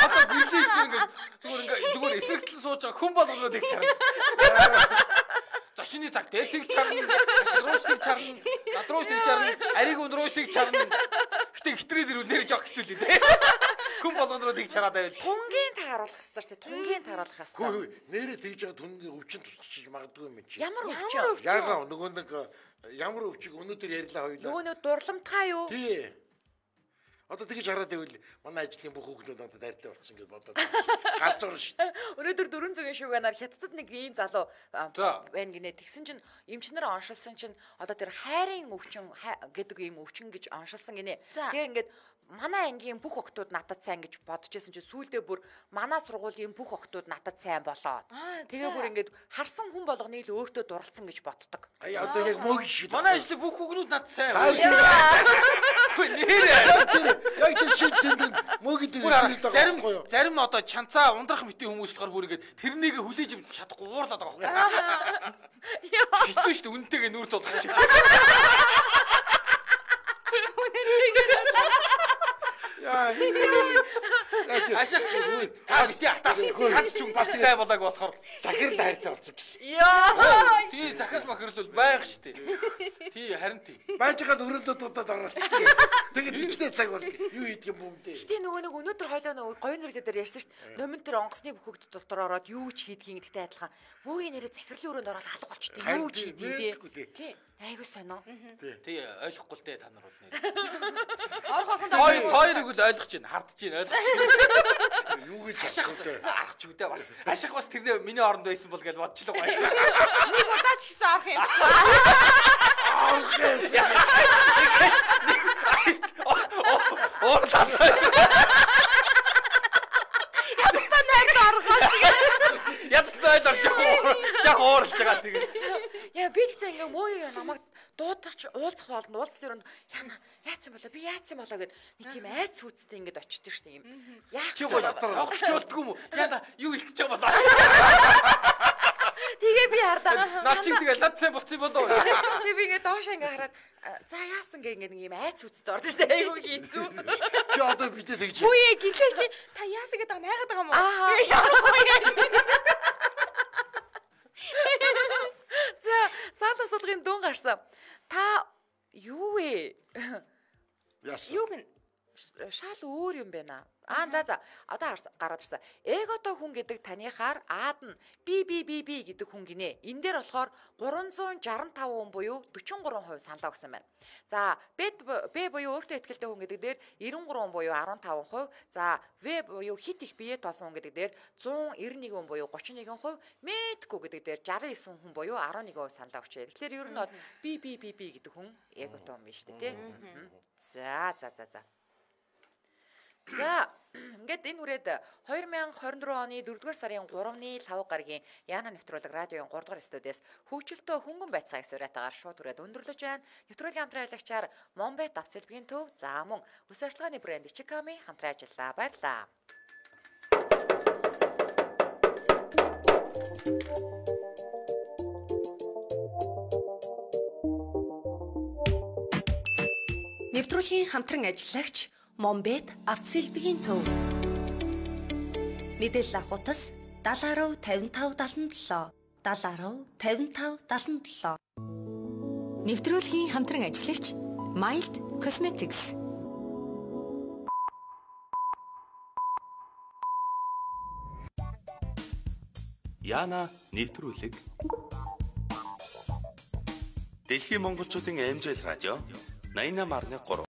Speaker 2: одоо гэрлээс зүгээр эсрэгтэл сууж байгаа хүн болгоноо тэгж харна. Зочны цаг дэс тэгж харна. Ашигрууч тэгж харна. Надрууч тэгж харна. Ариг өндрөөч тэгж харна. Гэтэ хитрээд ирвэл нэр жоох хэцүү л дээ. Хүн болгоноо тэгж хараад байвал
Speaker 1: Тунгийн тааруулах хэрэгтэй шүү дээ. Тунгийн тааруулах хэрэгтэй.
Speaker 4: Хөөе, нэрээ тэгж байгаа түнгийн өвчин тусчих магадгүй юм чи.
Speaker 1: Ямар өвчин?
Speaker 4: Яагаад нөгөө нэг ямар өвчиг өнөөдөр ярьлаа хоёлаа.
Speaker 1: Нөгөө дурламтгай юу?
Speaker 4: Тий. Одоо тэгж хараад байвал манай ажлын бүх хүүхдүүд надад дайртай болсон гэж бодоод галзуур шүү дээ.
Speaker 1: Өнөөдөр 400 шуганаар хятадд нэг ийм залуу байна гинэ. Тэгсэн чинь эмчнэр оншилсан чинь одоо тэр хайрын өвчин гэдэг ийм өвчин гэж оншилсан гинэ. Тэгээ ингээд манай ангийн бүх охтууд надад сайн гэж бодож байсан чинь сүүлдээ бүр манай сургуулийн бүх охтууд надад сайн болоод. Тэгээ бүр ингээд харсан хүн болгоны л өөртөө дурлцсан гэж боддог.
Speaker 4: Одоо яг мөг шиг.
Speaker 2: манай ажлын бүх хүүхнүүд надад сайн.
Speaker 4: Яг тэр шиг тэнд мөгөд
Speaker 2: зарим одоо чанцаа ундрах мэтийн хүмүүс болохоор бүр ингээд тэрнийг хүлээж авч чадахгүй уурлаад байгаа байхгүй. Хэцүү шүү дээ үнэнтэйгээ нүүр тулах чинь. Ашиг таас ч бас сайн болоог болохоор
Speaker 4: захирал хайртай болсон гэсэн.
Speaker 1: Яа.
Speaker 2: Тий захирал махирал бол байх штэ. Тий харин тий.
Speaker 4: Байж байгаа өрөөлөд удаад оролцдог. Тэгээд ихтэй цаг бол юу хийдэг юм бэ?
Speaker 1: Гэтэ нөгөө нэг өнөөдөр хойлоо говийн зэрэг дээр ярьсан штэ. Номон тэр онгоцны бүхэгд дотор ороод юу ч хийдгийг гэдэгтэй адилхан. Мөгийн нэрээ захирлын өрөөнд ороод алга болчтой. Юу ч хийдгийг тий. Айгуу сонио.
Speaker 2: Тий ойлгохгүй л дээ та нар бол нэр. Тойрог л ойлгож байна. Хардж байна ойлгож байна.
Speaker 4: Юу гэж
Speaker 2: арах ч үдэ бас. Ашиг бас тэрний миний оронд байсан бол гэж бодчихлоо гоё.
Speaker 3: Нэг удаа ч гэсэн авах юм.
Speaker 2: Ядцтай орж яг ууралж байгаа тэгээд.
Speaker 1: Яа би тэгтээ ингээ муу намайг дуудагч уулзах болно. Уулзлын өрөөнд яатсан болоо би яатсан болоо гэд нэг тийм айц хүүцтэй ингээд очдөг штэ юм. Яах
Speaker 2: чи тоглолцуулдгүй юм уу? Яна юу их гэж байгаа болоо.
Speaker 1: Тэгээ би хардаа.
Speaker 2: Наа чи тэгэл над сайн болцсон болоо.
Speaker 1: Тэгээ би ингээ доош ингээ хараад за яасан гэ ингээ нэг юм айц хүүцтэй ордоо штэ. Айгуу хийцүү.
Speaker 4: Чи одоо бидээ тэгж.
Speaker 3: Хүүе гэлээ чи та яасан гэдэг найгаад байгаа юм уу?
Speaker 1: За Санта судалгын дүн гарсан. Та юу вэ?
Speaker 4: Яасан?
Speaker 3: Юу гэн
Speaker 1: Шал өөр юм байна. За одоо гараад ирсэн. Эгото хүн гэдэг танихаар аад нь би гэдэг хүн гинэ. Энэ дээр болохоор 365 хүн буюу 43% саналаа өгсөн байна. За Б буюу өөртөө ихтэй хүн гэдэг дээр 93 буюу 15%. За В буюу хит их бие тоосон хүн гэдэг дээр 191 хүн буюу 31%. Мэдгүй гэдэг дээр 69 хүн буюу 11% саналаа өгчээ. Тэгэхээр ер нь бол би гэдэг хүн эгото юм байна шүү дээ, тий. За. За ингээд энэ үрээд 2024 оны 4-р сарын 3-ны 5 гарагийн Яна нэвтрүүлэг радиогийн 3-р студиэс хөгжилтөө хөнгөн байцаагаас уриатаагаар шууд үрээд өндөрлөж байна. Нэвтрүүлгийн хамтран ажиллагчаар Монбет авцэлбгийн төв за мөн үс арчилгааны брэнд Чиками хамтран ажиллаа. Баярлалаа.
Speaker 5: Нэвтрүүлгийн хамтран ажиллагч Монбет авцэлбгийн төв. Мэдээлэл авахутас 70 55 77 70 55 77. Нэвтрүүлгийн хамтран ажиллагч Mild Cosmetics.
Speaker 6: Яна нэвтрүүлэг. Дэлхийн монголчуудын аймжаал радио 88.3